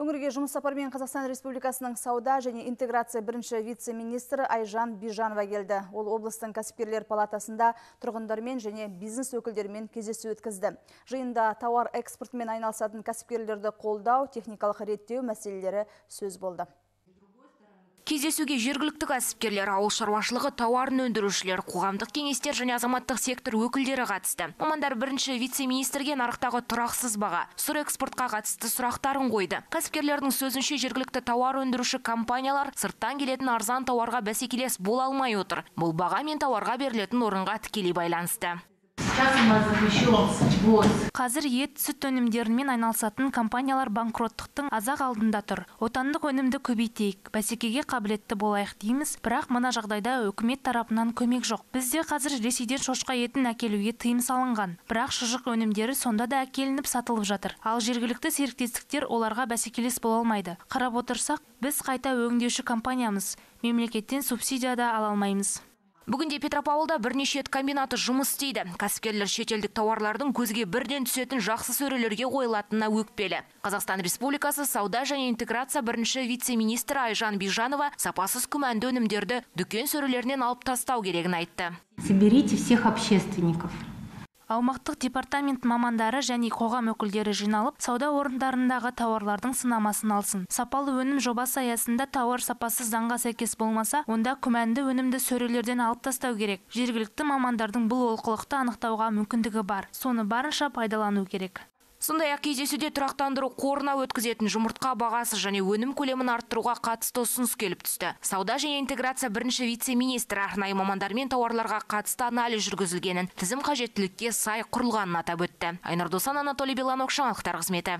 Өңірге жұмыс сапарымен Қазақстан Республикасының сауда және интеграция бірінші вице-министрі Айжан Бижанова келді. Ол облыстың кәсіпкерлер палатасында тұрғындармен және бизнес өкілдерімен кездесу өткізді. Жиында тауар экспортымен айналысатын кәсіпкерлерді қолдау, техникалық реттеу мәселелері сөз болды. Кездесуге жергілікті кәсіпкерлер, ауыл шаруашылығы тауарын өндірушілер, қоғамдық кеңестер және азаматтық сектор өкілдері қатысты. Мамандар бірінші вице-министрге нарықтағы тұрақсыз баға, сұр экспортқа қатысты сұрақтарын қойды. Кәсіпкерлердің сөзінше жергілікті тауар өндіруші компаниялар сырттан келетін арзан тауарға бәсекелес бола алмай отыр. Бұл баға мен тауарға берілетін орынға тікелей байланысты. Қазір ет, сүт өнімдерімен айналысатын компаниялар банкроттықтың азақ алдында тұр. Отандық өнімді көбейтейік, бәсекеге қабілетті болайық дейміз, бірақ мына жағдайда үкімет тарапынан көмек жоқ. Бізде қазір Ресейден шошқа етін әкелуге тыйым салынған. Бірақ шұжық өнімдері сонда да әкелініп сатылып жатыр. Ал жергілікті серіктестіктер оларға бәсекелес бола алмайды. Қарап отырсақ, біз қайта өңдеуші компаниямыз. Мемлекеттен субсидия да ала алмаймыз. Бүгінде Петропавлда бірнеше ет комбинаты жұмыс істейді. Кәсіпкерлер шетелдік тауарлардың көзге бірден түсетін жақсы сөрелерге қойылатынына өкпелі. Қазақстан Республикасы сауда және интеграция бірінші вице-министрі Айжан Бижанова сапасыз күмәнді өнімдерді дүкен сөрелерінен алып тастау керегін айтты. Соберите всех общественников. Аумақтық департамент мамандары және қоғам өкілдері жиналып, сауда орындарындағы тауарлардың сынамасын алсын. Сапалы өнім жобасы аясында тауар сапасы заңға сәйкес болмаса, онда күмәнді өнімді сөрелерден алып тастау керек. Жергілікті мамандардың бұл олқылықты анықтауға мүмкіндігі бар. Соны барынша пайдалану керек. Сондай-ақ кездесуде тұрақтандыру қорына өткізетін жұмыртқа бағасы және өнім көлемін арттыруға қатысты ұсыныс келіп түсті. Сауда және интеграция бірінші вице-министрі арнайы мамандармен тауарларға қатысты анализ жүргізілгенін, тізім қажеттілікке сай құрылғанын атап өтті. Айнұр Досан, Анатолий Беланок, жаңалықтар қызметі.